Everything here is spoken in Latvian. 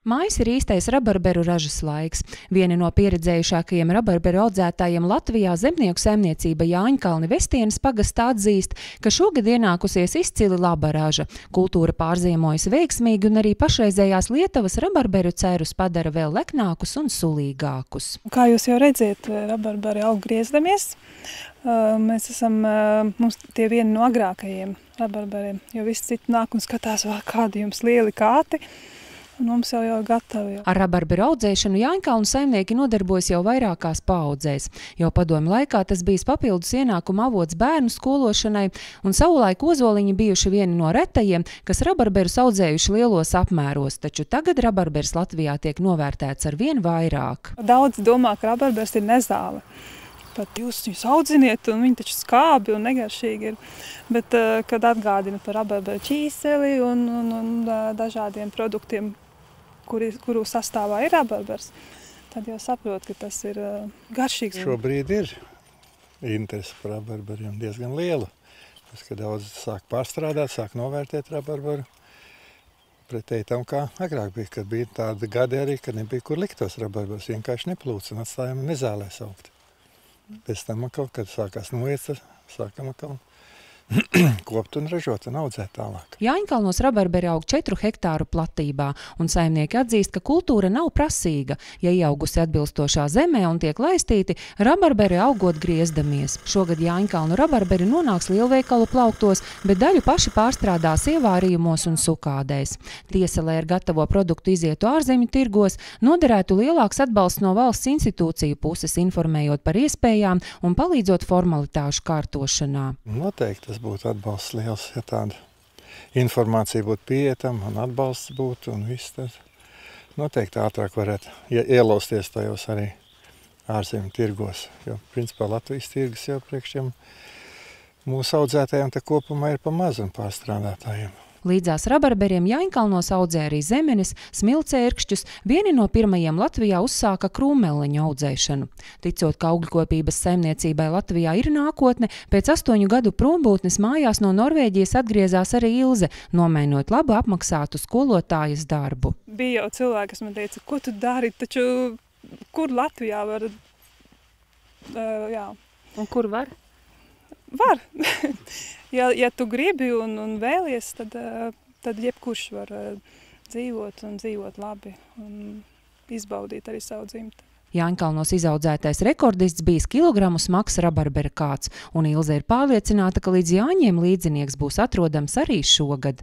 Mājas ir īstais rabarberu ražas laiks. Vieni no pieredzējušākajiem rabarberu audzētājiem Latvijā zemnieku saimniecība Jāņkalni Vestienes pagastā atzīst, ka šogad ienākusies izcili laba raža. Kultūra pārziemojas veiksmīgi un arī pašreizējās Lietuvas rabarberu cerus padara vēl leknākus un sulīgākus. Kā jūs jau redziet, rabarberi aug griezdamies. Mēs esam mums tie vieni no agrākajiem rabarberiem, jo viss citi nāk un skatās, kādi jums lieli kāti. Un mums jau gatavi. Ar rabarberu audzēšanu Jāņkalnu saimnieki nodarbojas jau vairākās paaudzēs. Jau padomju laikā tas bijis papildus ienākuma avots bērnu skološanai, un savulaik ozoliņi bijuši vieni no retajiem, kas rabarberus audzējuši lielos apmēros, taču tagad rabarbers Latvijā tiek novērtēts ar vien vairāk. Daudz domā, ka rabarbers ir nezāle. Pat jūs audziniet, un viņi taču skābi un negaršīgi ir. Bet, kad atgādina par rabarberu ķīseli un dažādiem produktiem, kuru sastāvā ir rabarbers, tad jau saprot, ka tas ir garšīgs. Šobrīd ir interese par rabarberiem diezgan liela. Tas, ka daudz sāk pārstrādāt, sāk novērtēt rabarberu. Pretēji tam, kā agrāk bija, kad bija tāda gadi arī, kad nebija kur likt tos rabarberus, vienkārši neplūca un atstājām nezālē saukt. Pēc tam atkal, kad sākās noiet, sākam atkal kopt un ražot un audzēt tālāk. Jāņkalnos rabarberi aug 4 hektāru platībā, un saimnieki atzīst, ka kultūra nav prasīga. Ja ieaugusi atbilstošā zemē un tiek laistīti, rabarberi augot griezdamies. Šogad Jāņkalnu rabarberi nonāks lielveikalu plauktos, bet daļu paši pārstrādās ievārījumos un sukādēs. Tiesa, lai ar gatavo produktu izietu ārzemju tirgos, noderētu lielāks atbalsts no valsts institūciju puses, informējot par iespējām un palīdzot formalitāšu kārtošanā. Noteikti tas būtu atbalsts liels, ja tāda informācija būtu pieejama un atbalsts būtu un viss tas. Noteikti ātrāk varētu ielausties tajos arī ārzemju tirgos, jo principā Latvijas tirgus jau priekšiem mūsu audzētājiem te kopumā ir pa maz un pārstrādātājiem. Līdzās rabarberiem Jāņkalnos audzē arī zemenes, smilcērkšķus, vieni no pirmajiem Latvijā uzsāka krūmeliņu audzēšanu. Ticot, ka augļkopības saimniecībai Latvijā ir nākotne, pēc 8 gadu prombūtnes mājās no Norvēģijas atgriezās arī Ilze, nomainot labu apmaksātu skolotājas darbu. Bija jau cilvēki, kas man teica, ko tu dari, taču kur Latvijā var? Jā. Un kur var? Var. Ja tu gribi un vēlies, tad jebkurš var dzīvot labi un izbaudīt arī savu dzimti. Jāņkalnos izaudzētais rekordists bijis kilogramu smags rabarbera kāds, un Ilze ir pārliecināta, ka līdz Jāņiem līdzinieks būs atrodams arī šogad.